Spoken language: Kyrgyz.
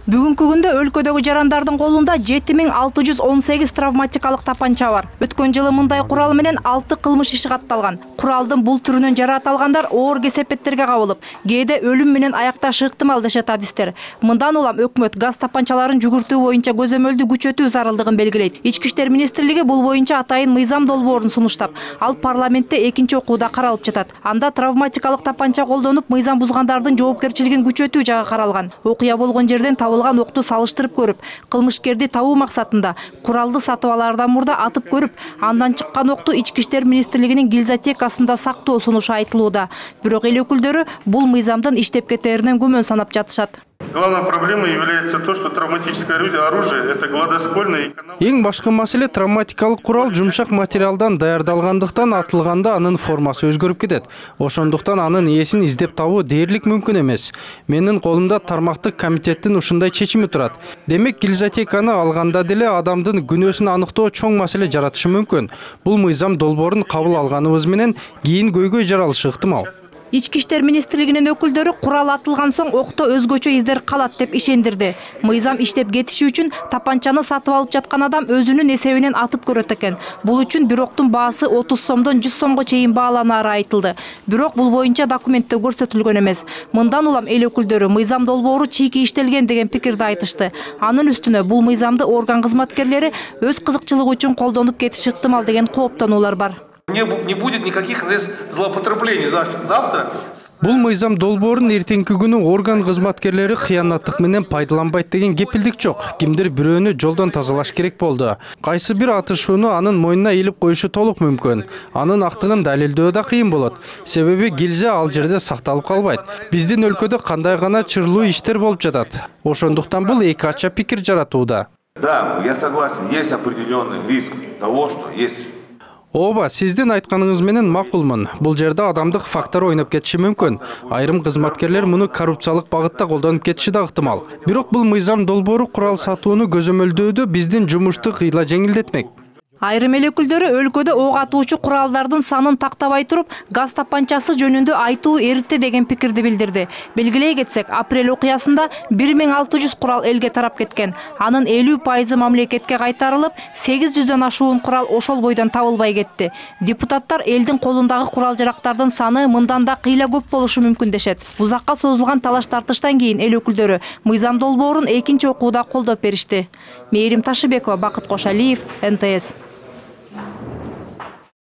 Бүгүнкү күндө өлкөдөгү жарандардын колунда 7618 травматикалык тапанча бар. Өткөн жылы мындай курал менен 6 кылмыш иши катталган. Куралдын бул түрүнөн жарааталгандар оор кесепеттерге кабылып, кээде өлүм менен аякташы ыктымал дешет адистер. Мындан улам өкмөт газ тапанчаларын жүгүртүү боюнча көзөмөлдү күчөтүү зарылдыгын белгилейт. Ички иштер министрлиги бул боюнча атайын мыйзам долбоорун сунуштап, ал парламентте экинчи окууда каралып жатат. Анда травматикалык тапанча колдонуп мыйзам бузгандардын жоопкерчилигин күчөтүү жагы каралган. Окуя болгон жерден табылган окту салыштырып көрүп, кылмышкерди табуу максатында куралды сатып алаардан мурда атып көрүп, андан чыккан окту Ички иштер министрлигинин гильзотекасында сактоо сунушу айтылууда. Бирок эл өкүлдөрү бул мыйзамдын иштеп кетээринен күмөн санап жатышат. Главная проблема является то, что травматическое оружие – это гладоствольное. Эң башкы маселе травматикалык курал жумшак материалдан даярдалгандыктан атылганда анын формасы өзгөрүп кетет. Ошондуктан анын ээсин издеп табуу дээрлик мүмкүн эмес. Менин колумда тармактык комитеттин ушундай чечими турат. Демек, гильзотеканы алганда деле адамдын күнөөсүн аныктоо чоң маселе жаратышы мүмкүн. Бул мыйзам долбоорун кабыл алганыбыз менен кийин көйгөй жаралышы ыктымал. Ички иштер министрлигинин өкүлдөрү курал атылган соң окто өзгөчө издер калат деп ишендирди. Мыйзам иштеп кетиши үчүн тапанчаны сатып алып жаткан адам өзүнүн эсебинен атып көрөт экен. Бул үчүн бир октун баасы 30 сомдон 100 сомго чейин бааланаары айтылды. Бирок бул боюнча документте көрсөтүлгөн эмес. Мындан улам эл өкүлдөрү мыйзам долбоору чийки иштелген деген пикирди айтышты. Анын үстүнө бул мыйзамды орган кызматкерлери өз кызыкчылыгы үчүн колдонуп кетиши ыктымал деген кооптонуулар бар. Не будет никаких злоупотреблений завтра. Бул мыйзам долбоорун эртеңки күнү орган кызматкерлери кыянаттык менен пайдаланбайт деген кепилдик жок. Кимдир бирөөнү жолдон тазалаш керек болду. Кайсы бир атышууну анын мойнуна илип коюшу толук мүмкүн. Анын актыгын далилдөө да кыйын болот. Себеби гильза ал жерде сакталып калбайт. Биздин өлкөдө кандай гана чырлуу иштер болуп жатат. Ошондуктан бул эки ача пикир жаратууда. Да, я согласен, есть определенный риск того, что есть. Ооба, сиздин айтканыңыз менен макулмун. Бул жерде адамдык фактор ойноп кетиши мүмкүн. Айрым кызматкерлер муну коррупциялык багытта колдонуп кетиши да ыктымал. Бирок бул мыйзам долбоору курал сатууну көзөмөлдөөдө биздин жумушту кыйла жеңилдетмек. Айрым эл өкүлдөрү өлкөдө ок атуучу куралдардын санын тактабай туруп, газ тапанчасы жөнүндө айтуу эрте деген пикирди билдирди. Белгилей кетсек, апрель окуясында 1600 курал элге тарап кеткен. Анын 50% мамлекетке кайтарылып, 800дөн ашуун курал ошол бойдон табылбай кетти. Депутаттар элдин колундагы курал-жарактардын саны мындан да кыйла көп болушу мүмкүн дешет. Узакка созулган талаш-тартыштан кийин эл өкүлдөрү мыйзам долбоорун экинчи окууда колдоп беришти. Мээрим Ташыбекова, Бакыт Кошалиев, НТС.